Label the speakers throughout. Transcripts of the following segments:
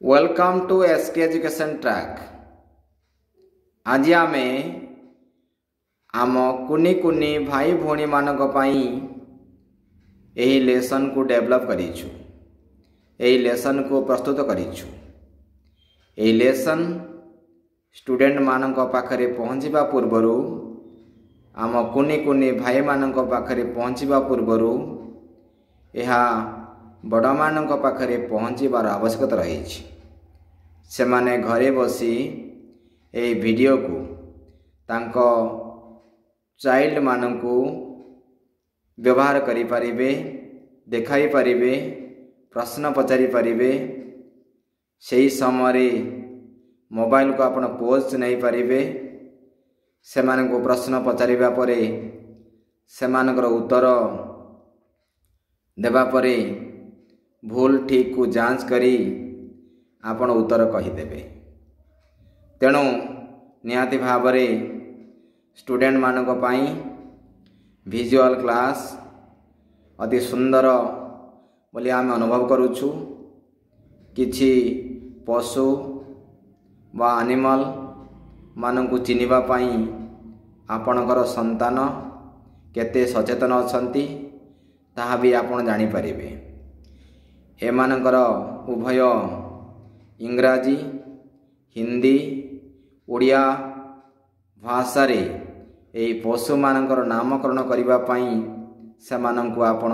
Speaker 1: Welcome to SK Education Track. ଆଜି ଆମେ ଆମ କୁନି କୁନି ଭାଇ ଭଉଣୀମାନଙ୍କ ପାଇଁ ଏହି ଲେସନ୍କୁ ଡେଭଲପ୍ କରିଛୁ, ଏହି ଲେସନ୍କୁ ପ୍ରସ୍ତୁତ କରିଛୁ। ଏହି ଲେସନ୍ ଷ୍ଟୁଡେଣ୍ଟମାନଙ୍କ ପାଖରେ ପହଞ୍ଚିବା ପୂର୍ବରୁ, ଆମ କୁନି କୁନି ଭାଇମାନଙ୍କ ପାଖରେ ପହଞ୍ଚିବା ପୂର୍ବରୁ ଏହା ବଡ଼ମାନଙ୍କ ପାଖରେ ପହଞ୍ଚିବାର ଆବଶ୍ୟକତା ରହିଛି। ସେମାନେ ଘରେ ବସି ଏହି ଭିଡ଼ିଓକୁ ତାଙ୍କ ଚାଇଲ୍ଡମାନଙ୍କୁ ବ୍ୟବହାର କରିପାରିବେ, ଦେଖାଇ ପାରିବେ, ପ୍ରଶ୍ନ ପଚାରି ପାରିବେ। ସେହି ସମୟରେ ମୋବାଇଲକୁ ଆପଣ ପୋଜ୍ ନେଇପାରିବେ। ସେମାନଙ୍କୁ ପ୍ରଶ୍ନ ପଚାରିବା ପରେ, ସେମାନଙ୍କର ଉତ୍ତର ଦେବା ପରେ ଭୁଲ ଠିକ୍କୁ ଯାଞ୍ଚ କରି ଆପଣ ଉତ୍ତର କହିଦେବେ। ତେଣୁ ନିହାତି ଭାବରେ ଷ୍ଟୁଡେଣ୍ଟମାନଙ୍କ ପାଇଁ ଭିଜୁଆଲ୍ କ୍ଲାସ୍ ଅତି ସୁନ୍ଦର ବୋଲି ଆମେ ଅନୁଭବ କରୁଛୁ। କିଛି ପଶୁ ବା ଆନିମଲ୍ ମାନଙ୍କୁ ଚିହ୍ନିବା ପାଇଁ ଆପଣଙ୍କର ସନ୍ତାନ କେତେ ସଚେତନ ଅଛନ୍ତି, ତାହା ବି ଆପଣ ଜାଣିପାରିବେ। ଏମାନଙ୍କର ଉଭୟ ଇଂରାଜୀ, ହିନ୍ଦୀ, ଓଡ଼ିଆ ଭାଷାରେ ଏହି ପଶୁମାନଙ୍କର ନାମକରଣ କରିବା ପାଇଁ ସେମାନଙ୍କୁ ଆପଣ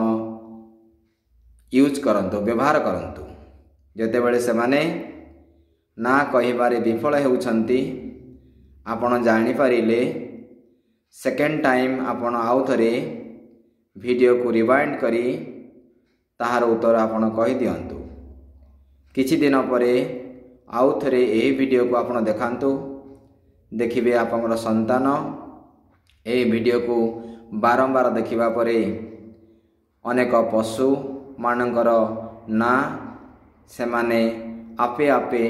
Speaker 1: ୟୁଜ୍ କରନ୍ତୁ, ବ୍ୟବହାର କରନ୍ତୁ। ଯେତେବେଳେ ସେମାନେ ନାଁ କହିବାରେ ବିଫଳ ହେଉଛନ୍ତି, ଆପଣ ଜାଣିପାରିଲେ, ସେକେଣ୍ଡ ଟାଇମ୍ ଆପଣ ଆଉ ଥରେ ଭିଡ଼ିଓକୁ ରିୱାଇଣ୍ଡ କରି ତାହାର ଉତ୍ତର ଆପଣ କହିଦିଅନ୍ତୁ। କିଛି ଦିନ ପରେ ଆଉ ଥରେ ଏହି ଭିଡ଼ିଓକୁ ଆପଣ ଦେଖାନ୍ତୁ। ଦେଖିବେ, ଆପଣଙ୍କର ସନ୍ତାନ ଏହି ଭିଡ଼ିଓକୁ ବାରମ୍ବାର ଦେଖିବା ପରେ ଅନେକ ପଶୁମାନଙ୍କର ନାଁ ସେମାନେ ଆପେ ଆପେ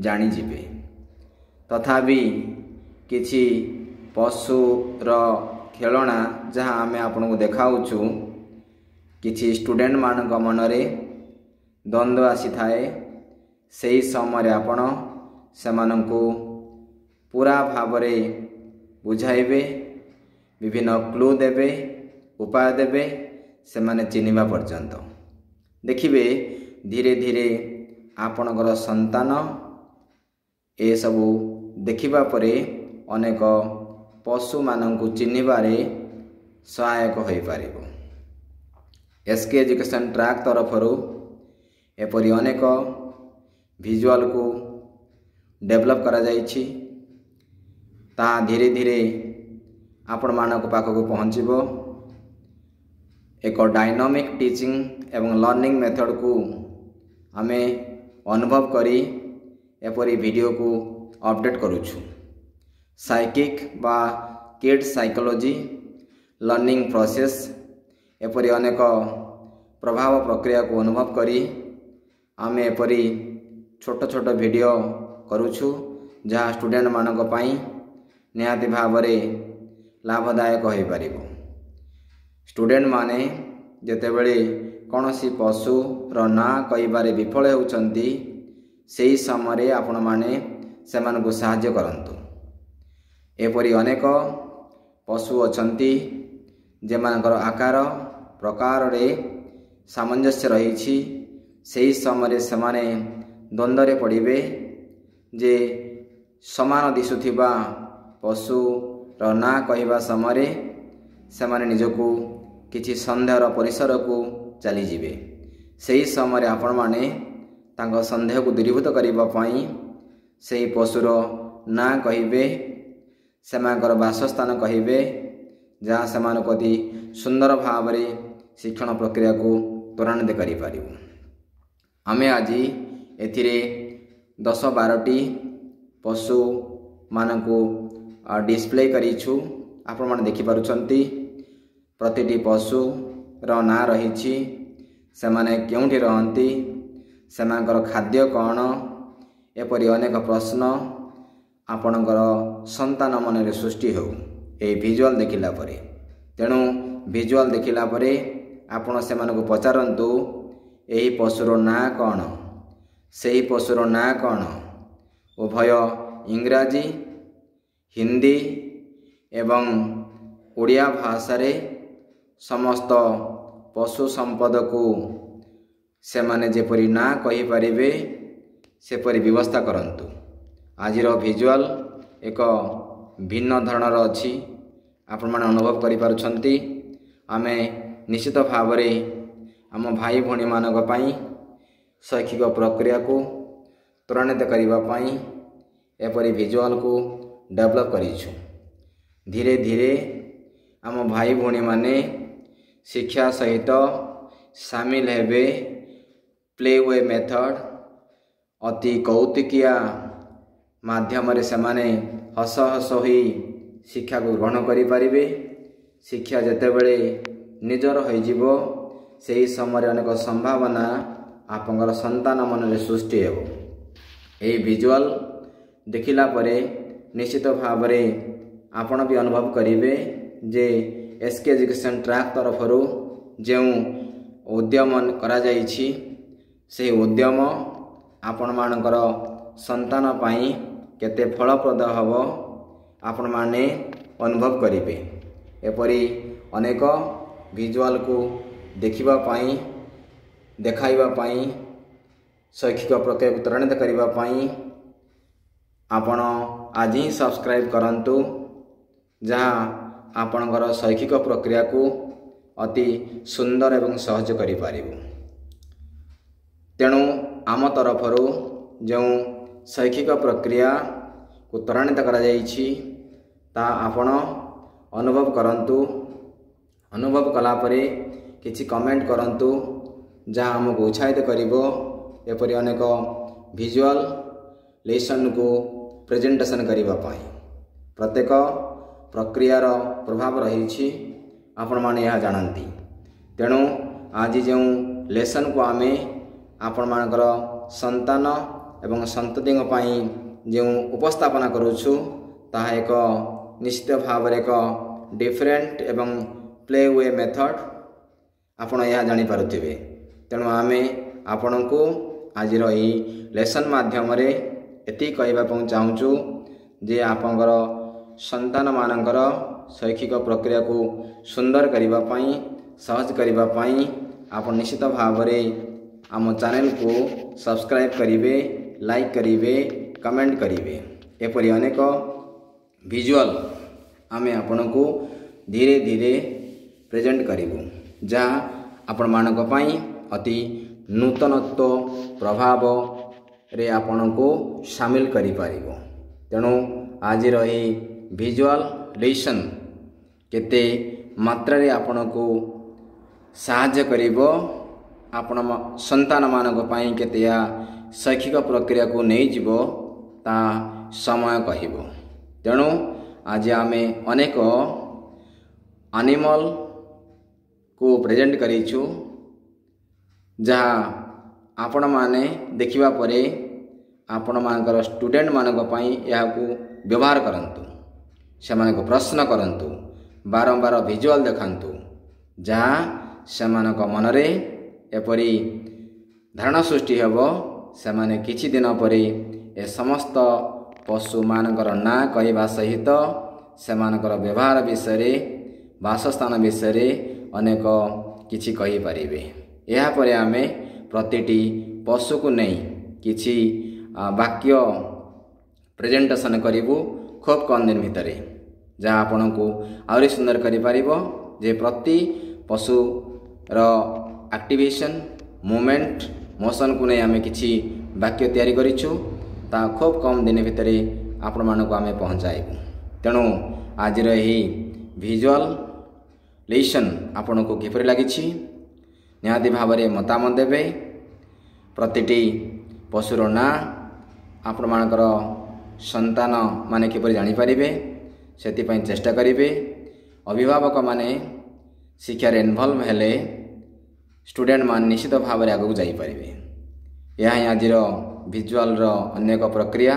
Speaker 1: ଜାଣିଯିବେ। ତଥାପି କିଛି ପଶୁର ଖେଳଣା ଯାହା ଆମେ ଆପଣଙ୍କୁ ଦେଖାଉଛୁ, କିଛି ଷ୍ଟୁଡେଣ୍ଟମାନଙ୍କ ମନରେ ଦ୍ୱନ୍ଦ୍ୱ ଆସିଥାଏ। ସେହି ସମୟରେ ଆପଣ ସେମାନଙ୍କୁ ପୁରା ଭାବରେ ବୁଝାଇବେ, ବିଭିନ୍ନ କ୍ଲୁ ଦେବେ, ଉପାୟ ଦେବେ, ସେମାନେ ଚିହ୍ନିବା ପର୍ଯ୍ୟନ୍ତ। ଦେଖିବେ, ଧୀରେ ଧୀରେ ଆପଣଙ୍କର ସନ୍ତାନ ଏସବୁ ଦେଖିବା ପରେ ଅନେକ ପଶୁମାନଙ୍କୁ ଚିହ୍ନିବାରେ ସହାୟକ ହୋଇପାରିବ। ଏସ୍ କେ ଏଜୁକେସନ୍ ଟ୍ରାକ୍ ତରଫରୁ ଏପରି ଅନେକ ଭିଜୁଆଲ୍କୁ ଡେଭଲପ୍ କରାଯାଇଛି। ତାହା ଧୀରେ ଧୀରେ ଆପଣମାନଙ୍କ ପାଖକୁ ପହଞ୍ଚିବ। ଏକ ଡାଇନାମିକ୍ ଟିଚିଂ ଏବଂ ଲର୍ଣ୍ଣିଂ ମେଥଡ଼କୁ ଆମେ ଅନୁଭବ କରି ଏପରି ଭିଡ଼ିଓକୁ ଅପଡ଼େଟ୍ କରୁଛୁ। ସାଇକିକ୍ ବା କିଡ୍ ସାଇକୋଲୋଜି, ଲର୍ଣ୍ଣିଂ ପ୍ରୋସେସ୍, ଏପରି ଅନେକ ପ୍ରଭାବ ପ୍ରକ୍ରିୟାକୁ ଅନୁଭବ କରି ଆମେ ଏପରି ଛୋଟ ଛୋଟ ଭିଡ଼ିଓ କରୁଛୁ, ଯାହା ଷ୍ଟୁଡେଣ୍ଟମାନଙ୍କ ପାଇଁ ନିହାତି ଭାବରେ ଲାଭଦାୟକ ହୋଇପାରିବ। ଷ୍ଟୁଡେଣ୍ଟମାନେ ଯେତେବେଳେ କୌଣସି ପଶୁର ନାଁ କହିବାରେ ବିଫଳ ହେଉଛନ୍ତି, ସେହି ସମୟରେ ଆପଣମାନେ ସେମାନଙ୍କୁ ସାହାଯ୍ୟ କରନ୍ତୁ। ଏପରି ଅନେକ ପଶୁ ଅଛନ୍ତି, ଯେମାନଙ୍କର ଆକାର ପ୍ରକାରରେ ସାମଞ୍ଜସ୍ୟ ରହିଛି। ସେହି ସମୟରେ ସେମାନେ ଦ୍ୱନ୍ଦ୍ୱରେ ପଡ଼ିବେ ଯେ ସମାନ ଦିଶୁଥିବା ପଶୁର ନାଁ କହିବା ସମୟରେ ସେମାନେ ନିଜକୁ କିଛି ସନ୍ଦେହର ପରିସରକୁ ଚାଲିଯିବେ। ସେହି ସମୟରେ ଆପଣମାନେ ତାଙ୍କ ସନ୍ଦେହକୁ ଦୂରୀଭୂତ କରିବା ପାଇଁ ସେହି ପଶୁର ନାଁ କହିବେ, ସେମାନଙ୍କର ବାସସ୍ଥାନ କହିବେ, ଯାହା ସେମାନଙ୍କୁ ଅତି ସୁନ୍ଦର ଭାବରେ ଶିକ୍ଷଣ ପ୍ରକ୍ରିୟାକୁ ତ୍ୱରାନ୍ୱିତ କରିପାରିବ। ଆମେ ଆଜି ଏଥିରେ 10-12ଟି ପଶୁମାନଙ୍କୁ ଡିସପ୍ଲେ କରିଛୁ। ଆପଣମାନେ ଦେଖିପାରୁଛନ୍ତି, ପ୍ରତିଟି ପଶୁର ନାଁ ରହିଛି, ସେମାନେ କେଉଁଠି ରହନ୍ତି, ସେମାନଙ୍କର ଖାଦ୍ୟ କ'ଣ, ଏପରି ଅନେକ ପ୍ରଶ୍ନ ଆପଣଙ୍କର ସନ୍ତାନ ମନରେ ସୃଷ୍ଟି ହେଉ ଏହି ଭିଜୁଆଲ୍ ଦେଖିଲା ପରେ। ତେଣୁ ଭିଜୁଆଲ୍ ଦେଖିଲା ପରେ ଆପଣ ସେମାନଙ୍କୁ ପଚାରନ୍ତୁ, ଏହି ପଶୁର ନାଁ କ'ଣ? ସେହି ପଶୁର ନାଁ କ'ଣ, ଉଭୟ ଇଂରାଜୀ, ହିନ୍ଦୀ ଏବଂ ଓଡ଼ିଆ ଭାଷାରେ ସମସ୍ତ ପଶୁ ସମ୍ପଦକୁ ସେମାନେ ଯେପରି ନାଁ କହିପାରିବେ ସେପରି ବ୍ୟବସ୍ଥା କରନ୍ତୁ। ଆଜିର ଭିଜୁଆଲ୍ ଏକ ଭିନ୍ନ ଧରଣର ଅଛି, ଆପଣମାନେ ଅନୁଭବ କରିପାରୁଛନ୍ତି। ଆମେ ନିଶ୍ଚିତ ଭାବରେ ଆମ ଭାଇ ଭଉଣୀମାନଙ୍କ ପାଇଁ ଶୈକ୍ଷିକ ପ୍ରକ୍ରିୟାକୁ ତ୍ୱରାନ୍ୱିତ କରିବା ପାଇଁ ଏପରି ଭିଜୁଆଲ୍କୁ ଡେଭଲପ୍ କରିଛୁ। ଧୀରେ ଧୀରେ ଆମ ଭାଇ ଭଉଣୀମାନେ ଶିକ୍ଷା ସହିତ ସାମିଲ ହେବେ। ପ୍ଲେ we method ଅତି କୌତୁକିଆ ମାଧ୍ୟମରେ ସେମାନେ ହସ ହସ ହୋଇ ଶିକ୍ଷାକୁ ଗ୍ରହଣ କରିପାରିବେ। ଶିକ୍ଷା ଯେତେବେଳେ ନିଜର ହୋଇଯିବ, ସେହି ସମୟରେ ଅନେକ ସମ୍ଭାବନା ଆପଣଙ୍କର ସନ୍ତାନ ମନରେ ସୃଷ୍ଟି ହେବ। ଏହି ଭିଜୁଆଲ୍ ଦେଖିଲା ପରେ ନିଶ୍ଚିତ ଭାବରେ ଆପଣ ବି ଅନୁଭବ କରିବେ ଯେ ଏସ୍ କେ ଏଜୁକେସନ୍ ଟ୍ରାକ୍ ତରଫରୁ ଯେଉଁ ଉଦ୍ୟମ କରାଯାଇଛି, ସେହି ଉଦ୍ୟମ ଆପଣମାନଙ୍କର ସନ୍ତାନ ପାଇଁ କେତେ ଫଳପ୍ରଦ ହେବ ଆପଣମାନେ ଅନୁଭବ କରିବେ। ଏପରି ଅନେକ ଭିଜୁଆଲ୍କୁ ଦେଖିବା ପାଇଁ, ଦେଖାଇବା ପାଇଁ, ଶୈକ୍ଷିକ ପ୍ରକ୍ରିୟାକୁ ତ୍ୱରାନ୍ୱିତ କରିବା ପାଇଁ ଆପଣ ଆଜି ହିଁ ସବସ୍କ୍ରାଇବ୍ କରନ୍ତୁ, ଯାହା ଆପଣଙ୍କର ଶୈକ୍ଷିକ ପ୍ରକ୍ରିୟାକୁ ଅତି ସୁନ୍ଦର ଏବଂ ସହଜ କରିପାରିବ। ତେଣୁ ଆମ ତରଫରୁ ଯେଉଁ ଶୈକ୍ଷିକ ପ୍ରକ୍ରିୟାକୁ ତ୍ୱରାନ୍ୱିତ କରାଯାଇଛି, ତାହା ଆପଣ ଅନୁଭବ କରନ୍ତୁ। ଅନୁଭବ କଲା ପରେ କିଛି କମେଣ୍ଟ କରନ୍ତୁ, ଯାହା ଆମକୁ ଉତ୍ସାହିତ କରିବ ଏପରି ଅନେକ ଭିଜୁଆଲ୍ ଲେସନ୍କୁ ପ୍ରେଜେଣ୍ଟେସନ୍ କରିବା ପାଇଁ। ପ୍ରତ୍ୟେକ ପ୍ରକ୍ରିୟାର ପ୍ରଭାବ ରହିଛି, ଆପଣମାନେ ଏହା ଜାଣନ୍ତି। ତେଣୁ ଆଜି ଯେଉଁ ଲେସନ୍କୁ ଆମେ ଆପଣମାନଙ୍କର ସନ୍ତାନ ଏବଂ ସନ୍ତତିଙ୍କ ପାଇଁ ଯେଉଁ ଉପସ୍ଥାପନା କରୁଛୁ, ତାହା ଏକ ନିଶ୍ଚିତ ଭାବରେ ଏକ ଡିଫରେଣ୍ଟ ଏବଂ ପ୍ଲେ we method, ଆପଣ ଏହା ଜାଣିପାରୁଥିବେ। ତେଣୁ ଆମେ ଆପଣଙ୍କୁ ଆଜିର ଏହି ଲେସନ୍ ମାଧ୍ୟମରେ ଏତିକି କହିବା ପାଇଁ ଚାହୁଁଛୁ ଯେ ଆପଣଙ୍କର ସନ୍ତାନମାନଙ୍କର ଶୈକ୍ଷିକ ପ୍ରକ୍ରିୟାକୁ ସୁନ୍ଦର କରିବା ପାଇଁ, ସହଜ କରିବା ପାଇଁ ଆପଣ ନିଶ୍ଚିତ ଭାବରେ ଆମ ଚ୍ୟାନେଲକୁ ସବସ୍କ୍ରାଇବ୍ କରିବେ, ଲାଇକ୍ କରିବେ, କମେଣ୍ଟ କରିବେ। ଏପରି ଅନେକ ଭିଜୁଆଲ୍ ଆମେ ଆପଣଙ୍କୁ ଧୀରେ ଧୀରେ ପ୍ରେଜେଣ୍ଟ କରିବୁ, ଯାହା ଆପଣମାନଙ୍କ ପାଇଁ ଅତି ନୂତନତ୍ୱ ପ୍ରଭାବରେ ଆପଣଙ୍କୁ ସାମିଲ କରିପାରିବ। ତେଣୁ ଆଜିର ଏହି ଭିଜୁଆଲ୍ ଲେସନ୍ କେତେ ମାତ୍ରାରେ ଆପଣଙ୍କୁ ସାହାଯ୍ୟ କରିବ, ଆପଣ ସନ୍ତାନମାନଙ୍କ ପାଇଁ କେତେ ଏହା ଶୈକ୍ଷିକ ପ୍ରକ୍ରିୟାକୁ ନେଇଯିବ, ତା ସମୟ କହିବ। ତେଣୁ ଆଜି ଆମେ ଅନେକ ଆନିମଲ୍କୁ ପ୍ରେଜେଣ୍ଟ କରିଛୁ, ଯାହା ଆପଣମାନେ ଦେଖିବା ପରେ ଆପଣମାନଙ୍କର ଷ୍ଟୁଡେଣ୍ଟମାନଙ୍କ ପାଇଁ ଏହାକୁ ବ୍ୟବହାର କରନ୍ତୁ, ସେମାନଙ୍କୁ ପ୍ରଶ୍ନ କରନ୍ତୁ, ବାରମ୍ବାର ଭିଜୁଆଲ୍ ଦେଖାନ୍ତୁ, ଯାହା ସେମାନଙ୍କ ମନରେ ଏପରି ଧାରଣା ସୃଷ୍ଟି ହେବ, ସେମାନେ କିଛି ଦିନ ପରେ ଏ ସମସ୍ତ ପଶୁମାନଙ୍କର ନାଁ କହିବା ସହିତ ସେମାନଙ୍କର ବ୍ୟବହାର ବିଷୟରେ, ବାସସ୍ଥାନ ବିଷୟରେ ଅନେକ କିଛି କହିପାରିବେ। ଏହାପରେ ଆମେ ପ୍ରତିଟି ପଶୁକୁ ନେଇ କିଛି ବାକ୍ୟ ପ୍ରେଜେଣ୍ଟେସନ୍ କରିବୁ ଖୁବ୍ କମ୍ ଦିନ ଭିତରେ, ଯାହା ଆପଣଙ୍କୁ ଆହୁରି ସୁନ୍ଦର କରିପାରିବ ଯେ ପ୍ରତି ପଶୁର ଆକ୍ଟିଭେସନ୍, ମୁଭମେଣ୍ଟ, ମୋସନ୍କୁ ନେଇ ଆମେ କିଛି ବାକ୍ୟ ତିଆରି କରିଛୁ, ତାହା ଖୁବ୍ କମ୍ ଦିନ ଭିତରେ ଆପଣମାନଙ୍କୁ ଆମେ ପହଞ୍ଚାଇବୁ। ତେଣୁ ଆଜିର ଏହି ଭିଜୁଆଲ୍ ଲେସନ୍ ଆପଣଙ୍କୁ କିପରି ଲାଗିଛି, ନିହାତି ଭାବରେ ମତାମତ ଦେବେ। ପ୍ରତିଟି ପଶୁର ନାଁ ଆପଣମାନଙ୍କର ସନ୍ତାନ ମାନେ କିପରି ଜାଣିପାରିବେ ସେଥିପାଇଁ ଚେଷ୍ଟା କରିବେ। ଅଭିଭାବକମାନେ ଶିକ୍ଷାରେ ଇନଭଲ୍ଭ ହେଲେ ଷ୍ଟୁଡେଣ୍ଟମାନେ ନିଶ୍ଚିତ ଭାବରେ ଆଗକୁ ଯାଇପାରିବେ। ଏହା ହିଁ ଆଜିର ଭିଜୁଆଲ୍ର ଅନ୍ୟ ଏକ ପ୍ରକ୍ରିୟା।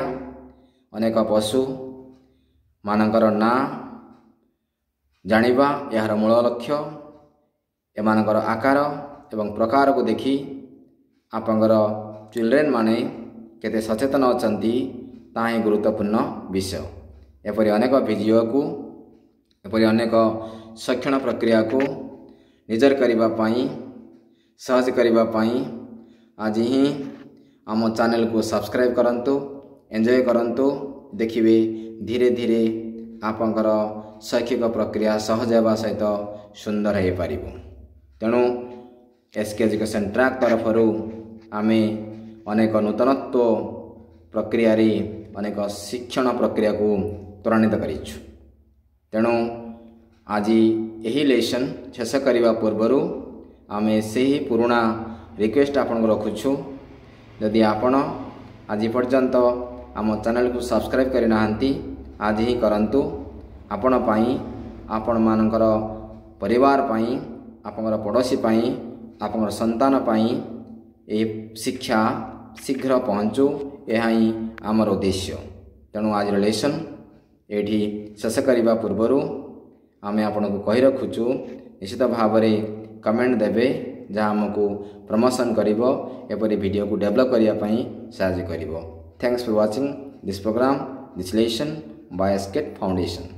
Speaker 1: ଅନେକ ପଶୁମାନଙ୍କର ନାଁ ଜାଣିବା ଏହାର ମୂଳ ଲକ୍ଷ୍ୟ। ଏମାନଙ୍କର ଆକାର ଏବଂ ପ୍ରକାରକୁ ଦେଖି ଆପଣଙ୍କର ଚିଲଡ୍ରେନ୍ ମାନେ କେତେ ସଚେତନ ଅଛନ୍ତି, ତାହା ହିଁ ଗୁରୁତ୍ୱପୂର୍ଣ୍ଣ ବିଷୟ। ଏପରି ଅନେକ ଭିଡ଼ିଓକୁ, ଏପରି ଅନେକ ଶିକ୍ଷଣ ପ୍ରକ୍ରିୟାକୁ ନିଜର କରିବା ପାଇଁ, ସହଜ କରିବା ପାଇଁ ଆଜି ହିଁ ଆମ ଚ୍ୟାନେଲକୁ ସବସ୍କ୍ରାଇବ୍ କରନ୍ତୁ, ଏନ୍ଜୟ କରନ୍ତୁ। ଦେଖିବେ, ଧୀରେ ଧୀରେ ଆପଣଙ୍କର ଶୈକ୍ଷିକ ପ୍ରକ୍ରିୟା ସହଜ ହେବା ସହିତ ସୁନ୍ଦର ହୋଇପାରିବ। ତେଣୁ ଏସ୍ କେ ଏଜୁକେସନ୍ ଟ୍ରାକ୍ ତରଫରୁ ଆମେ ଅନେକ ନୂତନତ୍ୱ ପ୍ରକ୍ରିୟାରେ ଅନେକ ଶିକ୍ଷଣ ପ୍ରକ୍ରିୟାକୁ ତ୍ୱରାନ୍ୱିତ କରିଛୁ। ତେଣୁ ଆଜି ଏହି ଲେସନ୍ ଶେଷ କରିବା ପୂର୍ବରୁ ଆମେ ସେହି ପୁରୁଣା ରିକ୍ୱେଷ୍ଟ ଆପଣଙ୍କୁ ରଖୁଛୁ। ଯଦି ଆପଣ ଆଜି ପର୍ଯ୍ୟନ୍ତ ଆମ ଚ୍ୟାନେଲକୁ ସବସ୍କ୍ରାଇବ୍ କରିନାହାନ୍ତି, ଆଜି ହିଁ କରନ୍ତୁ। ଆପଣ ପାଇଁ, ଆପଣମାନଙ୍କର ପରିବାର ପାଇଁ, ଆପଣଙ୍କର ପଡ଼ୋଶୀ ପାଇଁ, ଆପଣଙ୍କର ସନ୍ତାନ ପାଇଁ ଏହି ଶିକ୍ଷା ଶୀଘ୍ର ପହଞ୍ଚୁ, ଏହା ହିଁ ଆମର ଉଦ୍ଦେଶ୍ୟ। ତେଣୁ ଆଜିର ଲେସନ୍ ଏଇଠି ଶେଷ କରିବା ପୂର୍ବରୁ ଆମେ ଆପଣଙ୍କୁ କହି ରଖୁଛୁ, ନିଶ୍ଚିତ ଭାବରେ କମେଣ୍ଟ ଦେବେ, ଯାହା ଆମକୁ ପ୍ରମୋସନ୍ କରିବ, ଏପରି ଭିଡ଼ିଓକୁ ଡେଭଲପ୍ କରିବା ପାଇଁ ସାହାଯ୍ୟ କରିବ। Thanks for watching this program, this lesson by SKET Foundation.